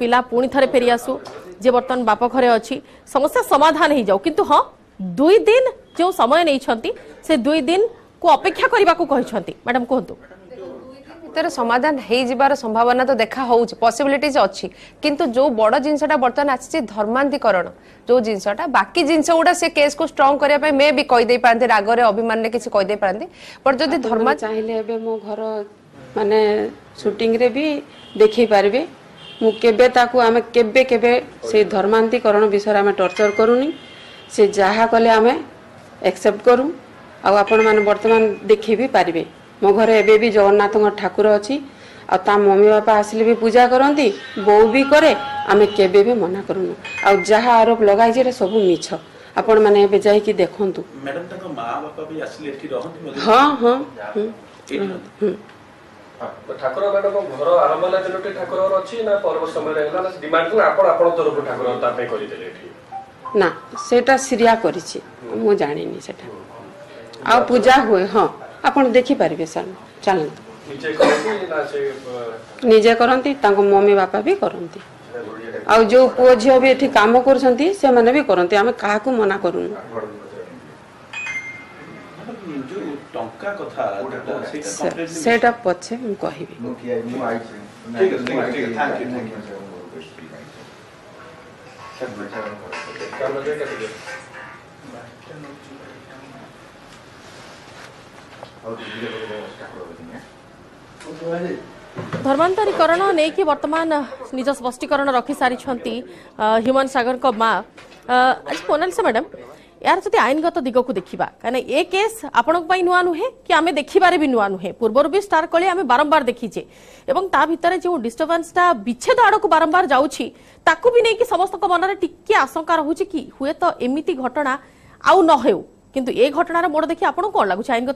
ପିଲା ପୁଣି ଥରେ ଫେରି ଆସୁ, ଯେ ବର୍ତ୍ତମାନ ବାପ ଘରେ ଅଛି, ସମସ୍ୟା ସମାଧାନ ହେଇଯାଉ। କିନ୍ତୁ ହଁ, 2 ଦିନ ଯେଉଁ ସମୟ ନେଇଛନ୍ତି ସେ 2 ଦିନକୁ ଅପେକ୍ଷା କରିବାକୁ କହିଛନ୍ତି। ମ୍ୟାଡାମ କୁହନ୍ତୁ। ଭିତରେ ସମାଧାନ ହେଇଯିବାର ସମ୍ଭାବନା ତ ଦେଖା ହଉଛି, ପସିବିଲିଟିଜ ଅଛି, କିନ୍ତୁ ଯୋଉ ବଡ ଜିନିଷଟା ବର୍ତ୍ତମାନ ଆସିଛି ଧର୍ମାନ୍ତୀକରଣ, ଯୋଉ ଜିନିଷଟା ବାକି ଜିନିଷ ଗୁଡା ସେ କେସ୍କୁ ଷ୍ଟ୍ରଙ୍ଗ କରିବା ପାଇଁ ମେ ବି କହିଦେଇ ପାରନ୍ତି, ରାଗରେ ଅଭିମାନରେ କିଛି କହିଦେଇ ପାରନ୍ତି, ବଟ୍ ଯଦି ଧର୍ମ ଚାହିଁଲେ ଏବେ ମୋ ଘର ମାନେ ସୁଟିଂରେ ବି ଦେଖେଇ ପାରିବେ। ମୁଁ କେବେ ତାକୁ ଆମେ କେବେ କେବେ ସେଇ ଧର୍ମାନ୍ତୀକରଣ ବିଷୟରେ ଆମେ ଟର୍ଚର କରୁନି, ସେ ଯାହା କଲେ ଆମେ ଆକ୍ସେପ୍ଟ କରୁ। ଆଉ ଆପଣମାନେ ବର୍ତ୍ତମାନ ଦେଖେଇ ବି ପାରିବେ, ମୋ ଘରେ ଏବେ ବି ଜଗନ୍ନାଥଙ୍କ ଠାକୁର ଅଛି, ଆଉ ତା ମମି ବାପା ଆସିଲେ ବି ପୂଜା କରନ୍ତି, ବୋଉ ବି କରେ, ଆମେ କେବେ ବି ମନା କରୁନୁ। ଆଉ ଯାହା ଆରୋପ ଲଗାଇଛି ଏଟା ସବୁ ମିଛ, ଆପଣମାନେ ଏବେ ଯାଇକି ଦେଖନ୍ତୁ। ହଁ ହଁ। ଠାକୁର ମ୍ୟାଡାମ ଘର ଆରମ୍ଭ ହେଲା ଦିନଟି ଠାକୁର ଅଛି ନା ପରବର୍ତ୍ତୀ ସମୟରେ ହେଲା ନା ଡିମାଣ୍ଡ କଲା ଆପଣ ଆପଣ ତରଫରୁ ଠାକୁର ତା ପାଇଁ କରିଦେଲେ ଏଠି? ନା, ସେଇଟା ଶ୍ରୀୟା କରିଛି, ମୁଁ ଜାଣିନି ସେଟା। ଆଉ ପୂଜା ହୁଏ, ହଁ ଆପଣ ଦେଖିପାରିବେ ସାର୍, ଚାଲନ୍ତୁ। ନିଜେ କରନ୍ତି, ତାଙ୍କ ମମି ବାପା ବି କରନ୍ତି, ଆଉ ଯୋଉ ପୁଅ ଝିଅ ବି ଏଠି କାମ କରୁଛନ୍ତି ସେମାନେ ବି କରନ୍ତି, ଆମେ କାହାକୁ ମନା କରୁନୁ। ସେଇଟା ପଛେ ମୁଁ କହିବି। ଧର୍ମାନ୍ତରୀକରଣ ନେଇକି ବର୍ତ୍ତମାନ ନିଜ ସ୍ପଷ୍ଟୀକରଣ ରଖି ସାରିଛନ୍ତି ହ୍ୟୁମାନ ସାଗରଙ୍କ ମା। ଆଜି ମୋନାଲିସା ମ୍ୟାଡାମ, ଏହାର ଯଦି ଆଇନଗତ ଦିଗକୁ ଦେଖିବା, କାହିଁକିନା ଏ କେସ୍ ଆପଣଙ୍କ ପାଇଁ ନୂଆ ନୁହେଁ କି ଆମେ ଦେଖିବାରେ ବି ନୂଆ ନୁହେଁ, ପୂର୍ବରୁ ବି ଷ୍ଟାର କଳି ଆମେ ବାରମ୍ବାର ଦେଖିଛେ, ଏବଂ ତା ଭିତରେ ଯେଉଁ ଡିଷ୍ଟର୍ବାନ୍ସଟା ବିଚ୍ଛେଦ ଆଡ଼କୁ ବାରମ୍ବାର ଯାଉଛି ତାକୁ ବି ନେଇକି ସମସ୍ତଙ୍କ ମନରେ ଟିକେ ଆଶଙ୍କା ରହୁଛି କି ହୁଏତ ଏମିତି ଘଟଣା ଆଉ ନ ହେଉ, କିନ୍ତୁ ଏ ଘଟଣାର ମୋଡ଼ ଦେଖି ଆପଣଙ୍କୁ କ'ଣ ଲାଗୁଛି ଆଇନଗତ